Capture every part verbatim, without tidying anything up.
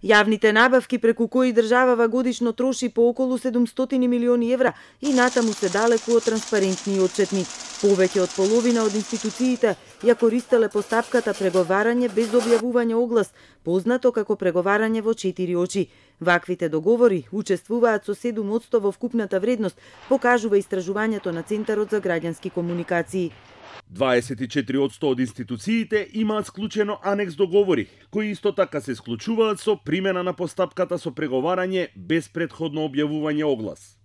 Јавните набавки преку кои државава годишно троши по околу седумстотини милиони евра и натаму се далеку од транспарентни и отчетни. Повеќе од половина од институциите ја користеле постапката преговарање без објавување оглас, познато како преговарање во четири очи. Ваквите договори учествуваат со седум одсто во вкупната вредност, покажува истражувањето на Центарот за граѓански комуникации. дваесет и четири одсто од институциите имаат склучено анекс договори, кои исто така се склучуваат со примена на постапката со преговарање без претходно објавување оглас.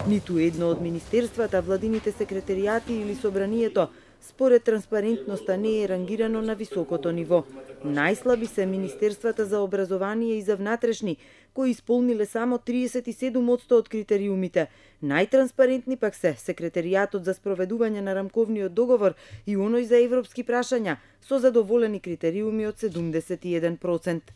Ниту едно од министерствата, владините секретаријати или собранието според транспарентноста не е рангирано на високото ниво. Најслаби се министерствата за образование и за внатрешни, кои исполниле само триесет и седум одсто од критериумите. Најтранспарентни пак се секретаријатот за спроведување на рамковниот договор и оној за европски прашања, со задоволени критериуми од седумдесет и еден процент.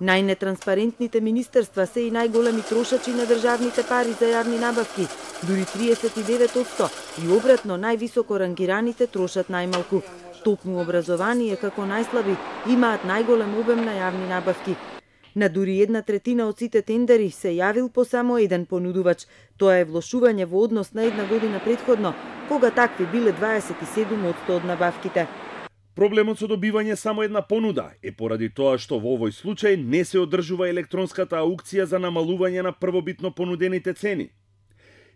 Најнетранспарентните министерства се и најголеми трошачи на државните пари за јавни набавки, дури триесет и девет одсто, и обратно највисоко рангираните трошат најмалку. Токму образование како најслаби имаат најголем обем на јавни набавки. На дури една третина од сите тендери се јавил по само еден понудувач. Тоа е влошување во однос на една година претходно, кога такви биле дваесет и седум одсто од набавките. Проблемот со добивање само една понуда е поради тоа што во овој случај не се одржува електронската аукција за намалување на првобитно понудените цени.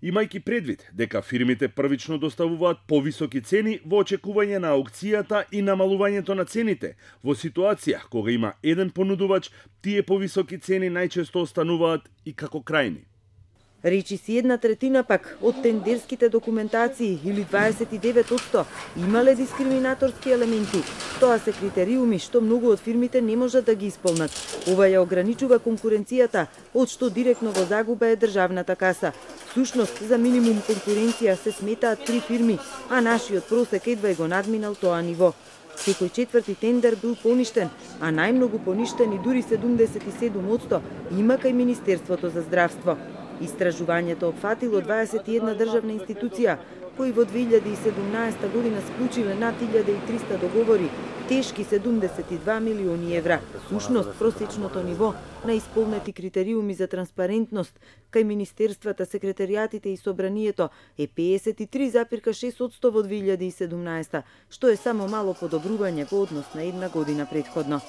Имајќи предвид дека фирмите првично доставуваат повисоки цени во очекување на аукцијата и намалувањето на цените, во ситуација кога има еден понудувач, тие повисоки цени најчесто остануваат и како крајни. Речи си една третина пак од тендерските документации или дваесет и девет одсто имале дискриминаторски елементи. Тоа се критериуми што многу од фирмите не можат да ги исполнат. Ова ја ограничува конкуренцијата, од што директно во загуба е државната каса. Всушност, за минимум конкуренција се сметаат три фирми, а нашиот просек едва го надминал тоа ниво. Секој четврти тендер бил поништен, а најмногу поништени, дури седумдесет и седум одсто, има кај Министерството за здравство. Истражувањето опфатило дваесет и една државна институција, кои во две илјади и седумнаесета година склучиле над илјада и триста договори, тешки седумдесет и два милиони евра. Сушност, просечното ниво на исполнети критериуми за транспарентност кај министерствата, секретаријатите и собранието е пеесет и три запирка шест одсто во две илјади и седумнаесета, што е само мало подобрување во однос на една година претходно.